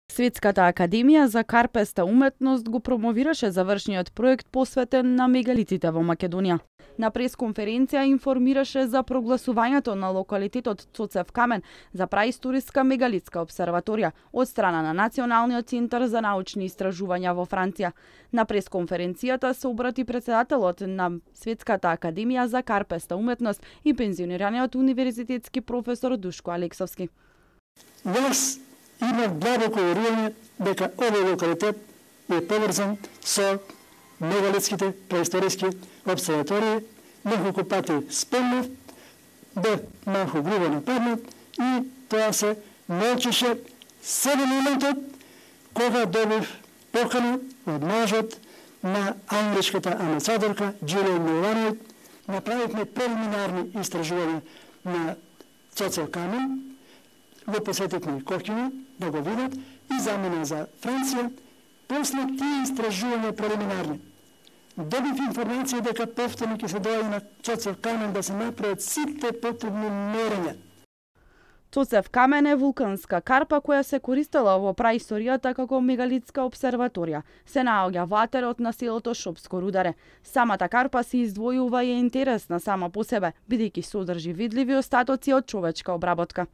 Светската академија за карпеста уметност го промовираше завршниот проект посветен на мегалитите во Македонија. На пресконференција информираше за прогласувањето на локалитетот Цоцев камен за праисториска мегалитска обсерваторија од страна на Националниот центар за научни истражувања во Франција. На пресконференцијата се обрати председателот на Светската академија за карпеста уметност и пензионираниот универзитетски професор Душко Алексовски. Има длабоко уверување дека овој локалитет е поврзан со мегалитските преисториски обсерватории, неколку пати спомнав, бе малку грубо нападнат и тоа се научеше седе моментот кога добив покана од мажот на англиската амбасадорка Джилијан Милановиќ. Направивме прелиминарни истражувања на Цоцев камен, го посетивме Кокино да го видат и замина за Франција. После тие истражувања прелиминарни добив информација дека повторно ќе се доаѓа на Цоцев камен да се направат сите потребни мерења. Цоцев камен е вулканска карпа која се користела во праисторијата како мегалитска обсерваторија. Се наоѓа во атерот на селото Шопско рударе. Самата карпа се издвојува и е интересна сама по себе, бидејќи содржи видливи остатоци од човечка обработка.